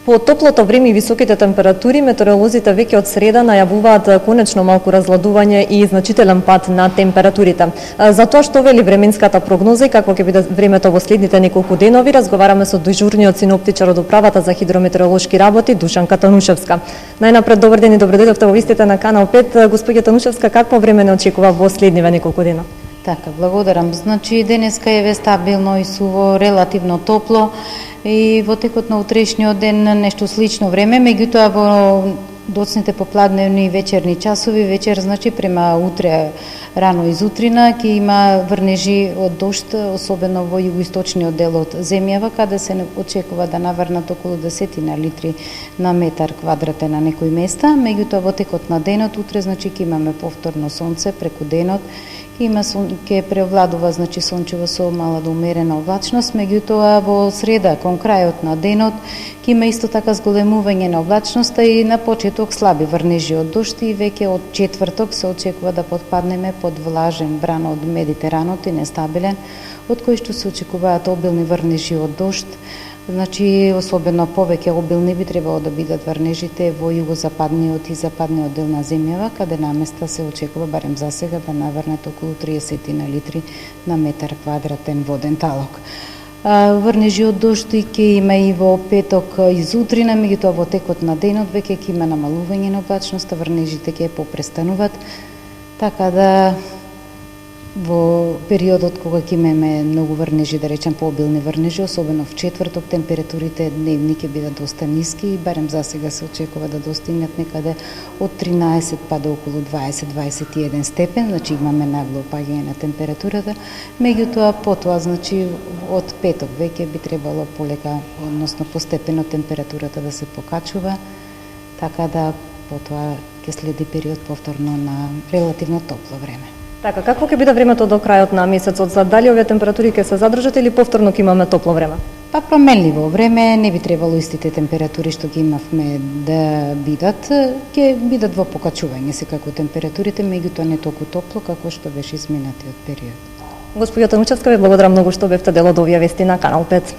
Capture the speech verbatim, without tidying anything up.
По топлото време и високите температури, метеоролозите веќе од среда најавуваат конечно малку разладување и значителен пад на температурите. За тоа што вели временската прогноза и какво ќе биде времето во следните неколку денови, разговараме со дежурниот синоптичар од Управата за хидрометеоролошки работи Душанка Танушевска. Најнапред, добар ден и добре дојдовте во вистите на Канал пет. Господја Танушевска, какво време не очекува во следниве неколку дена? Така, благодарам. Значи, денеска е стабилно и суво, релативно топло и во текот на утрешниот ден нешто слично време, меѓутоа во доцните попладневни и вечерни часови, вечер, значи, према утре рано изутрина, ќе има врнежи од дожд, особено во југоисточниот дел од земјава, каде се очекува да наврнат околу десетина литри на метар квадратен на некои места, меѓутоа во текот на денот, утре, значи, ќе имаме повторно сонце преку денот, има ќе преовладува, значи, сончево со мала до умерена облачност, меѓутоа во среда кон крајот на денот ќе има исто така зголемување на облачноста и на почеток слаби врнежи од дожд и веќе од четврток се очекува да потпаднеме под влажен бран од Медитеранот и нестабилен, од кој што се очекуваат обилни врнежи од дожд. Значи, особено повеќе обилни би требало да бидат врнежите во југозападниот и западниот дел на земјава, каде наместа се очекува, барем за сега, да наврнат околу триесет литри на метар квадратен воден талок. Врнежи од дожд ќе има и во петок изутрина, меѓутоа во текот на денот веќе ќе има намалување на облачноста, врнежите ќе попрестануваат, така да во периодот кога ќе имаме многу врнежи, да речем пообилни врнежи, особено в четврток, температурите дневни ќе бидат доста ниски и барем за сега се очекува да достигнат некаде од тринаесет па до околу дваесет до дваесет и еден степен, значи имаме нагло опаѓање на температурата, меѓутоа потоа, значи од петок веќе би требало полека, односно постепено температурата да се покачува, така да потоа ќе следи период повторно на релативно топло време. Така, какво ќе биде времето до крајот на месецот? За дали овие температури ќе се задржат или повторно ќе имаме топло време? Па променливо време, не би требало истите температури што ги имавме да бидат, ќе бидат во покачување секако температурите, меѓутоа не толку топло како што беше изминатиот период. Господја Танушевска, ви благодарам многу што бевте дел од овие вести на Канал пет.